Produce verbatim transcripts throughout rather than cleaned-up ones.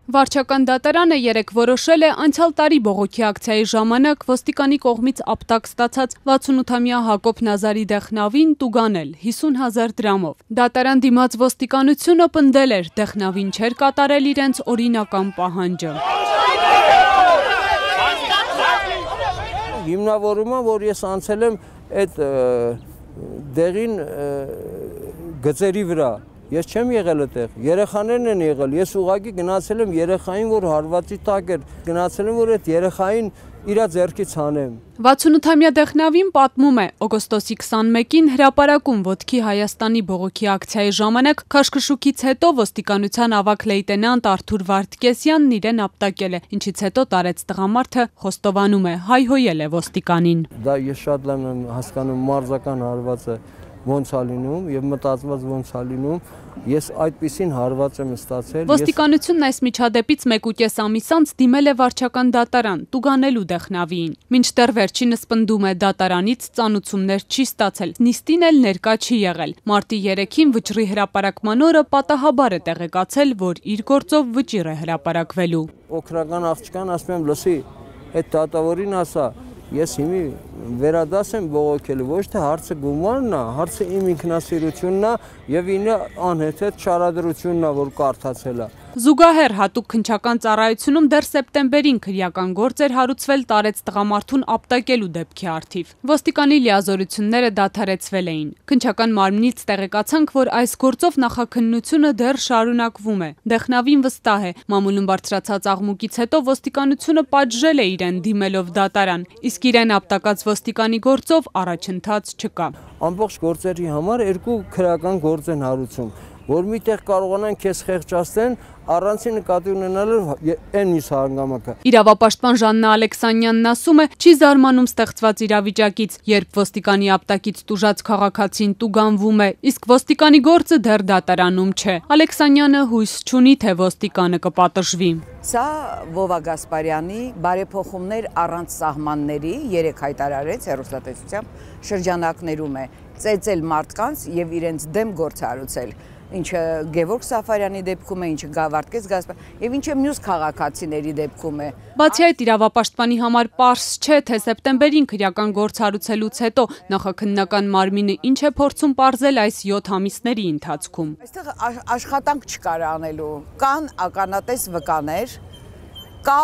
Վարչական դատարանը երեկ որոշել է անցյալ տարի բողոքի ակցիայի ժամանակ ոստիկանի կողմից ապտակ ստացած վաթսունութամյա Հակոբ Նազարի Դեխնավին տուգանել հիսուն հազար դրամով։ Դատարան դիմաց ոստիկանությունը պնդել էր, Դեխնավին չէր կատարել իրենց օրինական պահանջը։ Հիմնավորումը, որ ես անցել եմ այդ դեղին գծերի վրա, ես չեմ եղել այդտեղ, երեխաներն են եղել, ես ուղղակի գնացել եմ երեխային, որ հարվածի տակ էր, գնացել եմ, որ այդ երեխային իր ձեռքից հանեմ։ վաթսունութամյա Դեխնավին պատմում է, օգոստոսի քսանմեկին հրապարակում ոտքի Հայաստանի բողոքի ակցիայի ժամանակ քաշքշուկից հետո ոստիկանության ավագ լեյտենանտ Արթուր Վարդգեսյանն իրեն ապտակել է, ինչից հետո տարեց տղամարդը խոստովանում է, հայհոյել է ոստիկանին։ Դա ես շատ լավ եմ հասկանում մարզական հարվածը ոնց է լինում եւ մտածված ոնց է լինում, ես այդպիսին հարված եմ ստացել։ Ոստիկանությունն այս միջադեպից մեկ ու կես ամիս անց դիմել է վարչական դատարան, տուգանելու Դեխնավիին։ Մինչդեռ վերջինս պնդում է, դատարանից ծանուցումներ չի ստացել, նիստին էլ ներկա չի եղել։ Մարտի երեքին վճռի հրապարակման օրը պատահաբար է տեղեկացել, որ իր գործով վճիռ է հրապարակվելու։ Օգնական աղջկան ասում եմ, լսի, այդ դատավորին ասա, ես հիմի վերադաս եմ բողոքել, ոչ թե հարցը գումարն է, հարցը իմ ինքնասիրությունն է եւ ինը անհեթեթ շարադրությունն է, որ կարդացել է։ Զուգահեռ հատուկ քննչական ծառայությունում դեռ սեպտեմբերին քրեական գործ էր հարուցվել տարեց տղամարդուն ապտակելու դեպքի առթիվ։ Ոստիկանի լիազորությունները դադարեցվել էին։ Քննչական մարմնից տեղեկացանք, որ այս գործով նախաքննությունը դեռ շարունակվում է։ Դեխնավին վստահ է, մամուլում բարձրացած աղմուկից հետո ոստիկանությունը պատժել է իրեն դիմելով դատարան, իսկ իրեն ապտակած ոստիկանի գործով առաջընթաց չկա։ Ամբողջ գործերի համար երկու քրեական գործ են հարուցում, որ միտեղ կարողանան քեզ խեղճացնեն, առանցի նկատի ունենալով այն մյուս հանգամանքը։ Իրավապաշտպան Ժաննա Ալեքսանյանն ասում է, չի զարմանում ստեղծված իրավիճակից, երբ ոստիկանի ապտակից տուժած քաղաքացին տուգանվում է, իսկ ոստիկանի գործը դեռ դատարանում չէ։ Ալեքսանյանը հույս չունի, թե ոստիկանը կպատժվի։ Սա Վովա Գասպարյանի բարեփոխումներ առանց սահմանների երեք հայտարարեց հեռուստատեսությամբ շրջանակներում է ծեծել մարդկանց եւ իրենց դեմ գործ հարուցել, ինչը Գևորգ Սաֆարյանի դեպքում է, ինչը Վարդգես Գասպարյանի եւ ինչը մյուս քաղաքացիների դեպքում է։ Բացի այդ, իրավապաշտպանի համար պարզ չէ, թե սեպտեմբերին քրեական գործ հարուցելուց հետո նախաքննական մարմինը ինչ է փորձում պարզել այս յոթ ամիսների ընթացքում։ Այստեղ աշխատանք չկար անելու, կան ականատես վկաներ, կա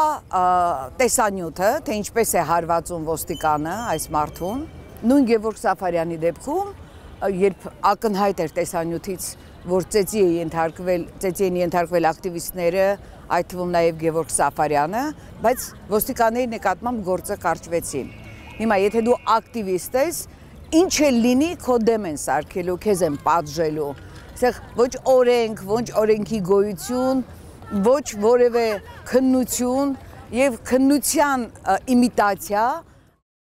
տեսանյութը, թե ինչպես է հարվածում ոստիկանը այս մարդուն։ Նույն Գևորգ Սաֆարյանի դեպքում, երբ ակնհայտ էր տեսանյութից, որ ծեծի է ենթարկվել, ծեծի են ենթարկվել ակտիվիստները, այդ թվում նաև Գևորգ Սաֆարյանը, բայց ոստիկանների նկատմամբ գործը կարճվեցին։ Հիմա եթե դու ակտիվիստ ես, ինչ է լինի, քո դեմ են սարքելու, քեզ են պատժելու։ Այստեղ ոչ օրենք, ոչ օրենքի գոյություն, ոչ որևէ քննություն եւ քննության իմիտացիա